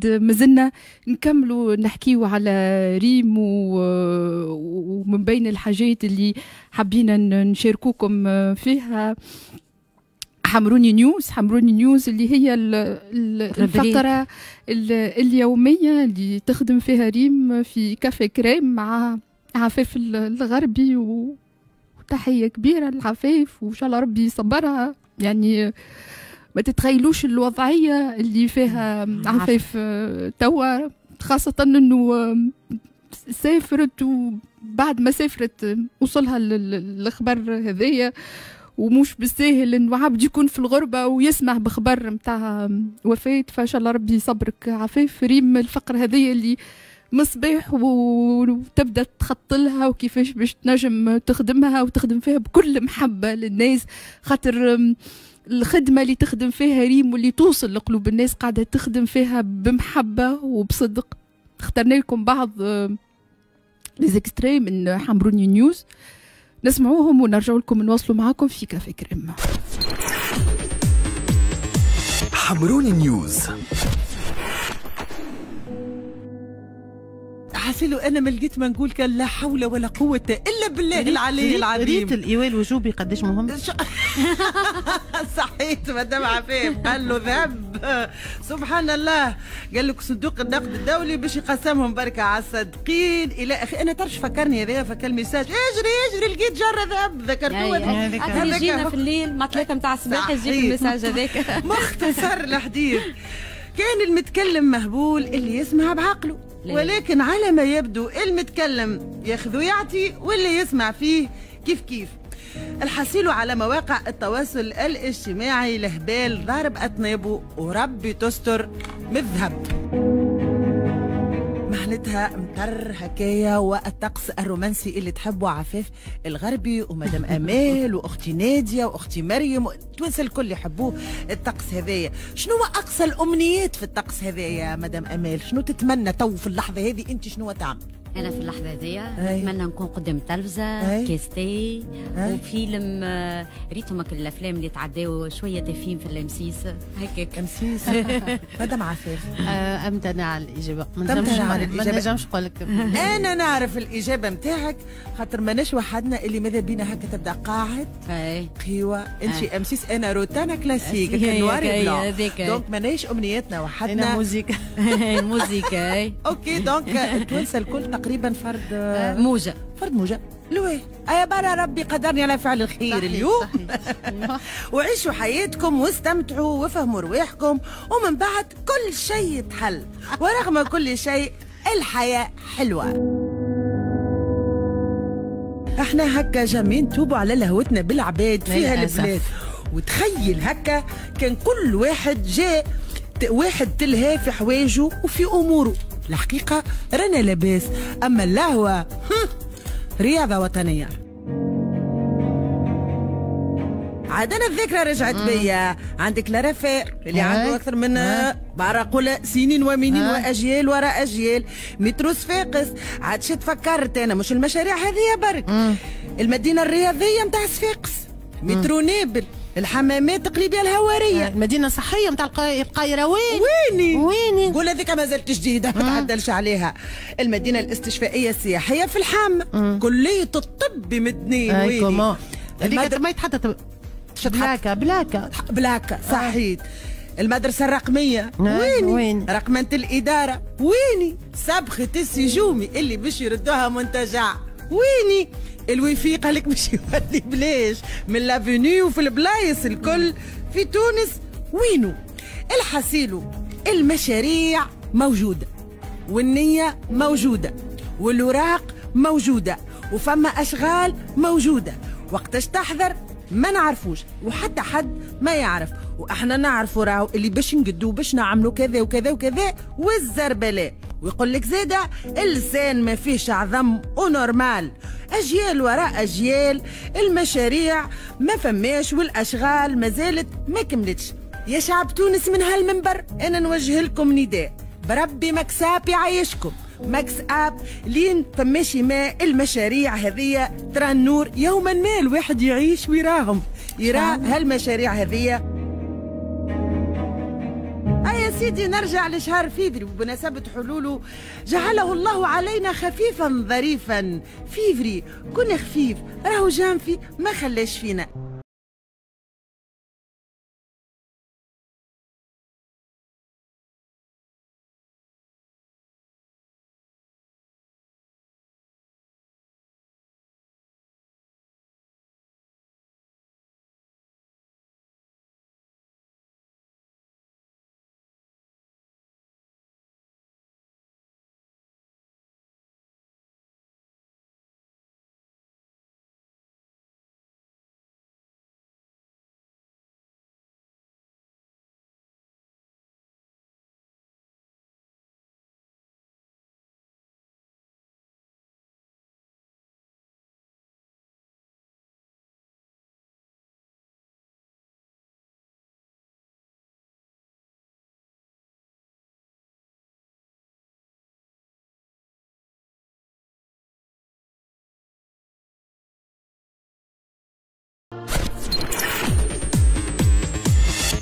مازلنا نكملوا نحكيو على ريم ومن بين الحاجات اللي حبينا نشاركوكم فيها حمروني نيوز. حمروني نيوز اللي هي الفقرة اليومية اللي تخدم فيها ريم في كافي كريم مع عفاف الغربي، وتحية كبيرة لعفاف وإن شاء الله ربي يصبرها. يعني ما تتخيلوش الوضعية اللي فيها عفاف توا، خاصة انه سافرت وبعد ما سافرت وصلها الخبر هذايا، ومش بالساهل انه عبد يكون في الغربة ويسمع بخبر نتاع وفاة. فان شاء الله ربي يصبرك عفاف. ريم الفقرة هذيا اللي مصباح وتبدا تخط لها وكيفاش باش تنجم تخدمها وتخدم فيها بكل محبة للناس، خاطر الخدمة اللي تخدم فيها ريم واللي توصل لقلوب الناس قاعدة تخدم فيها بمحبة وبصدق. اخترنا لكم بعض les extraits من حمروني نيوز، نسمعوهم ونرجع لكم نواصلوا معاكم في كافي كريم. حمروني نيوز. حاسيلو انا ما لقيت ما نقول كان لا حول ولا قوة الا بالله العلي العظيم. ريت الايواء الوجوبي قداش مهم. صحيت مدام عفاف قال له ذهب. سبحان الله، قال لك صندوق النقد الدولي باش يقسمهم بركة على الصادقين الى اخي. انا تعرفش فكرني هذايا فكر ال message اجري اجري لقيت جره ذهب ذكرتوه هذاك يجينا في الليل مع 3 نتاع الصباح يجيك ال message هذاك. مختصر الحديث، كان المتكلم مهبول اللي يسمع بعقله، ولكن على ما يبدو المتكلم ياخذ ويعطي واللي يسمع فيه كيف كيف. الحصيل على مواقع التواصل الاجتماعي لهبال ضارب أطنابه وربي تستر مذهب. معناتها مطر هكايا والطقس الرومانسي اللي تحبه عفاف الغربي ومدام امال واختي ناديه واختي مريم، التوانسة الكل يحبوه الطقس هذايا. شنو هو اقصى الامنيات في الطقس هذايا مدام امال؟ شنو تتمنى تو في اللحظة هذه انت شنو تعمل؟ انا في اللحظة هذيا نتمنى نكون قدام التلفزة كاس تاي وفيلم. ريتهم الافلام اللي تعداو شوية تافهين في ال M6 هكاك. M6 مدام عفاف امتنع على الاجابة. ما نجمش نقول لك. انا نعرف الاجابة نتاعك خاطر ماناش وحدنا اللي ماذا بينا هكا تبدا قاعد قهوة انت M6 انا روتانا كلاسيك noir blanc، donc ماناش امنياتنا وحدنا. انا موزيكا موزيكا OK donc التوانسة الكل تقريبا فرد موجة، فرد موجة. لوي يا برا ربي قدرني على فعل الخير اليوم. وعيشوا حياتكم واستمتعوا وفهموا رواحكم ومن بعد كل شيء يتحل، ورغم كل شيء الحياة حلوة. احنا هكا جامين توبوا على لهوتنا بالعباد في هالبلاد. وتخيل هكا كان كل واحد جاء واحد تلهى في حوايجه وفي اموره. الحقيقة رانا لاباس، أما اللهوة رياضة وطنية. عاد أنا الذكرى رجعت بيا. عندك لرفاق اللي عنده أكثر من برا سنين ومنين وأجيال وراء أجيال. مترو صفاقس عاد شي تفكرت أنا مش المشاريع هذه برك. المدينة الرياضية نتاع صفاقس، مترو نابل، الحمامات تقريبا الهواريه، المدينة الصحية نتاع القيروان. ويني ويني قول هذيك مازالت جديدة ما تعدلش عليها. المدينة الاستشفائيه السياحية في الحامه، كليه الطب بمدنين. ويني هذيك ما يتحدث بلاكه بلاكه بلاكه صحيت. المدرسة الرقمية ويني وين؟ رقمنه الادارة ويني؟ سبخه السجومي اللي باش يردوها منتجع ويني؟ الويفي قال لك باش يولي بلاش من l'avenue وفي البلايص الكل في تونس وينو؟ الحسيلو المشاريع موجودة والنية موجودة والوراق موجودة وفما أشغال موجودة، وقتاش تحضر ما نعرفوش وحتى حد ما يعرف، واحنا نعرفوا راهو اللي باش نقدو باش نعملوا كذا وكذا وكذا والزربلاء. ويقول لك زاده اللسان ما فيهش عظم و normal، اجيال وراء اجيال المشاريع ما فماش والاشغال ما زالت ما كملتش. يا شعب تونس من هالمنبر انا نوجه لكم نداء، بربي مكساب يعيشكم ماكس اب لين فماشي ما المشاريع هذه ترى النور يوما ما الواحد يعيش ويراهم يرى هالمشاريع هذه. يا سيدي نرجع لشهر فيفري وبمناسبة حلوله جعله الله علينا خفيفا ظريفا. فيفري كن خفيف، راهو جانفي ما خلاش فينا.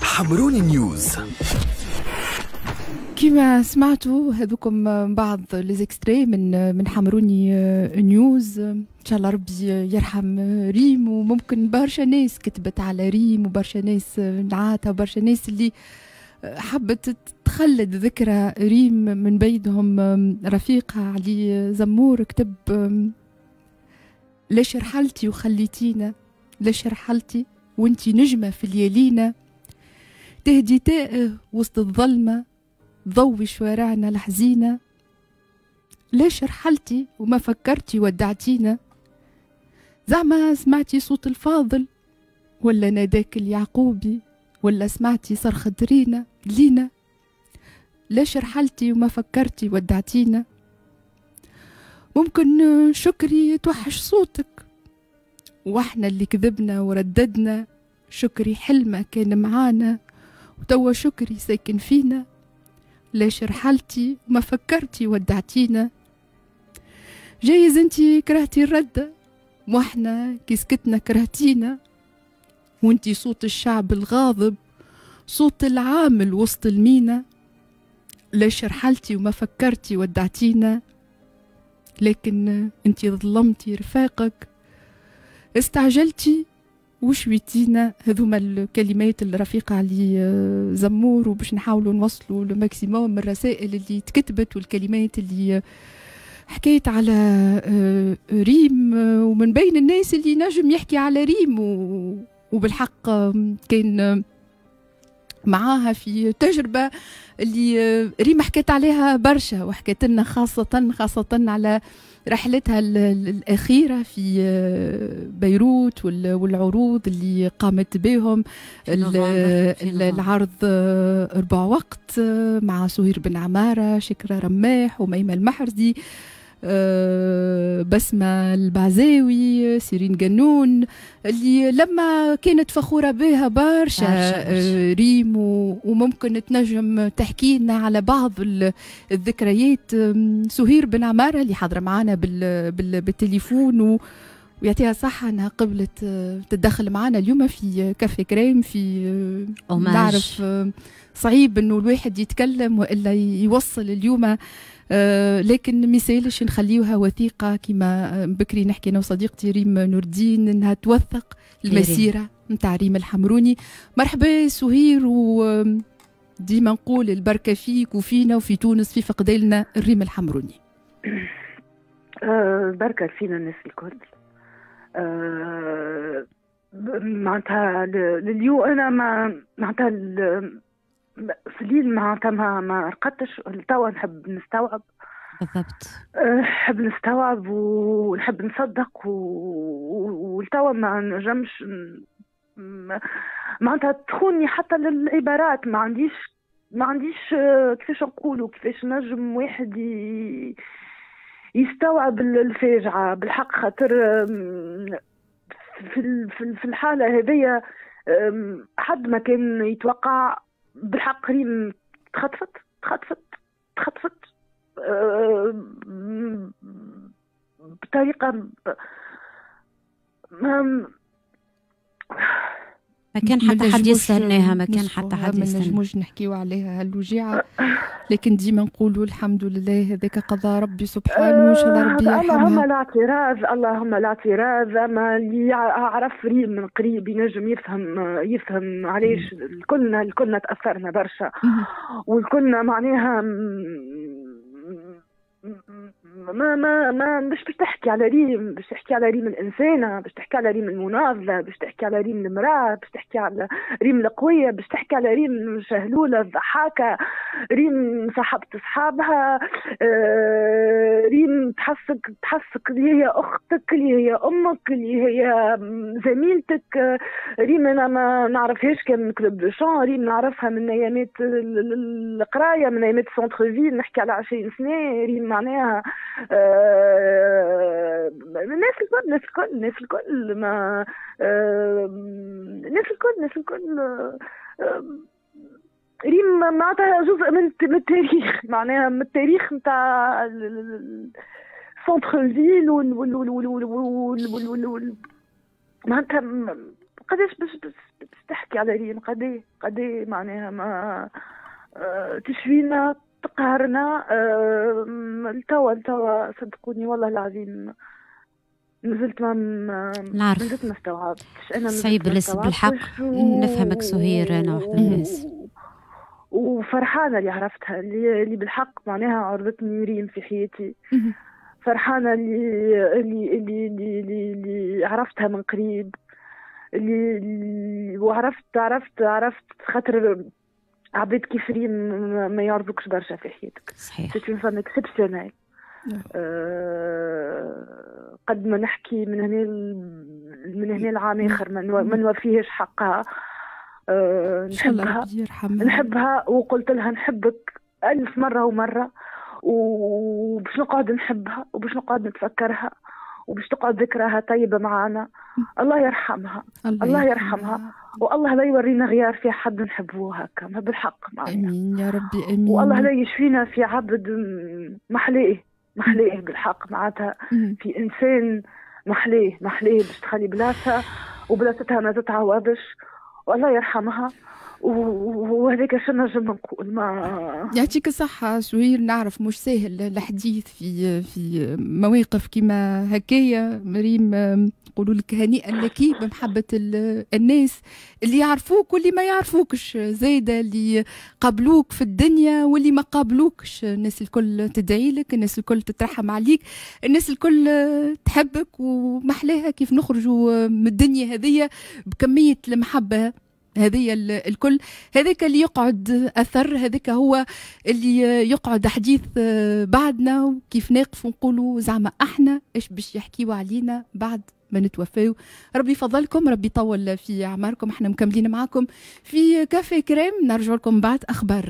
حمروني نيوز. كما سمعتوا هذوكم بعض les extraits من حمروني نيوز. ان شاء الله ربي يرحم ريم، وممكن برشا ناس كتبت على ريم، وبرشا ناس نعاتها، وبرشا ناس اللي حبت تخلد ذكرى ريم، من بينهم رفيقها علي زمور كتب: ليش رحلتي وخليتينا، ليش رحلتي وانتي نجمة في ليالينا، تهدي تائه وسط الظلمة، ضوي شوارعنا الحزينة، ليش رحلتي وما فكرتي ودعتينا، زعما سمعتي صوت الفاضل ولا ناداك اليعقوبي، ولا سمعتي صرخة رينا لينا، ليش رحلتي وما فكرتي ودعتينا، ممكن شكري توحش صوتك واحنا اللي كذبنا ورددنا، شكري حلمة كان معانا وتوا شكري ساكن فينا، ليش رحلتي وما فكرتي ودعتينا، جايز انتي كرهتي الردة واحنا كي سكتنا كرهتينا، وانتي صوت الشعب الغاضب صوت العامل وسط المينا، ليش رحلتي وما فكرتي ودعتينا، لكن انتي ظلمتي رفاقك استعجلتي وشويتينا. هذوما الكلمات الرفيقة علي زمور، وباش نحاولوا نوصلوا le maximum من الرسائل اللي تكتبت والكلمات اللي حكيت على ريم، ومن بين الناس اللي نجم يحكي على ريم وبالحق كان معاها في تجربة اللي ريم حكيت عليها برشا، وحكيت لنا خاصة على رحلتها الأخيرة في بيروت والعروض اللي قامت بهم، العرض 4 وقت مع سهير بن عمارة، شكرا رماح، وميمة المحرزي، بسمة البعزاوي، سيرين جنون، اللي لما كانت فخورة بها برشا ريم، وممكن تنجم تحكي لنا على بعض الذكريات. سهير بن عمارة اللي حاضرة معنا بالتليفون ويعطيها صحة أنها قبلت تتدخل معنا اليوم في كافي كريم، في نعرف صعيب أنه الواحد يتكلم وإلا يوصل اليوم، لكن مثالش نخليوها وثيقة كما بكري نحكي أنا وصديقتي ريم نور الدين أنها توثق المسيرة نتاع ريم الحمروني. مرحبا سهير، وديما نقول البركة فيك وفينا وفي تونس في فقدالنا الريم الحمروني. بركة فينا الناس الكل. معناتها لليوم أنا ما معناتها في الليل معناتها ما رقدتش، توا نحب نستوعب. بالضبط، نحب نستوعب ونحب نصدق، والتوا ما نجمش معناتها تخوني حتى للعبارات، ما عنديش كيفاش نقولوا، كيفاش نجم واحد يستوعب الفاجعة بالحق، خاطر في الحالة هذيا حد ما كان يتوقع بالحق. ريم تخطفت تخطفت تخطفت بطريقة ما كان حتى حد يستناها، ما كان حتى حد يستناها، ما نجموش نحكيو عليها هالوجيعه، لكن ديما نقولوا الحمد لله هذاك قضاء ربي سبحانه، وان شاء الله ربي يرحمها. اللهم لا اعتراض، اللهم لا اعتراض. اما اللي عرف ريم من قريب ينجم يفهم علاش الكلنا تاثرنا برشا، والكلنا معناها ما ما ما مش باش تحكي على ريم، باش تحكي على ريم الإنسانة، باش تحكي على ريم المناضلة، باش تحكي على ريم المرأة، باش تحكي على ريم القوية، باش تحكي على ريم شهلولة الضحاكة، ريم صاحبة أصحابها، ريم تحسك اللي هي أختك، اللي هي أمك، اللي هي زميلتك. ريم أنا ما نعرفهاش كان من club de chant، ريم نعرفها من أيامات القراية، من أيامات centre-ville، نحكي على 20 سنة. ريم معناها الناس الكل، الناس الكل، الناس الكل، ما الناس الكل، الناس الكل. ريم معناتها جزء من التاريخ، معناها من التاريخ نتاع centre-ville وال معناتها قداش باش تحكي على ريم، قدي معناها ما تشفينا، تقهرنا. التوا صدقوني والله العظيم نزلت ما نزلت ما استوعبتش. انا صعيب بالحق نفهمك سهير، انا واحدة من الناس وفرحانه اللي عرفتها، اللي بالحق معناها عرضتني ريم في حياتي، فرحانة اللي اللي اللي اللي, اللي عرفتها من قريب، اللي وعرفت عرفت عرفت خاطر عباد كيف ريم ما يعرضوكش برشا في حياتك. صحيح، c'est une femme exceptionnelle. قد ما نحكي من هنا العام اخر ما نوفيهش حقها. نحبها، نحبها، وقلت لها نحبك 1000 مرة ومرة، وباش نقعد نحبها، وباش نقعد نتفكرها، وباش تقعد ذكرها طيبة معنا. الله يرحمها، الله يرحمها، والله لا يورينا غيار في حد نحبوه هكا بالحق معنا. امين يا ربي، امين. والله لا يشفينا في عبد محليه، محليه بالحق معناتها، في انسان محليه، محليه باش تخلي بلاصة وبلاصتها ما تتعوضش، والله يرحمها. وهذاك شنو نجم نقول. ما يعطيك الصحة سهير، نعرف مش ساهل الحديث في مواقف كيما هكايا. مريم نقولوا لك هنيئا لك بمحبة الناس اللي يعرفوك واللي ما يعرفوكش، زايدة اللي قابلوك في الدنيا واللي ما قابلوكش. الناس الكل تدعي لك، الناس الكل تترحم عليك، الناس الكل تحبك، ومحلاها كيف نخرجوا من الدنيا هذية بكمية المحبة هذه الكل. هذاك اللي يقعد أثر، هذاك هو اللي يقعد حديث بعدنا، وكيف نقف ونقولوا زعما احنا ايش باش يحكيوا علينا بعد ما نتوفاو. ربي يفضلكم، ربي يطول في اعماركم. احنا مكملين معاكم في كافي كريم، نرجع لكم بعد اخبار.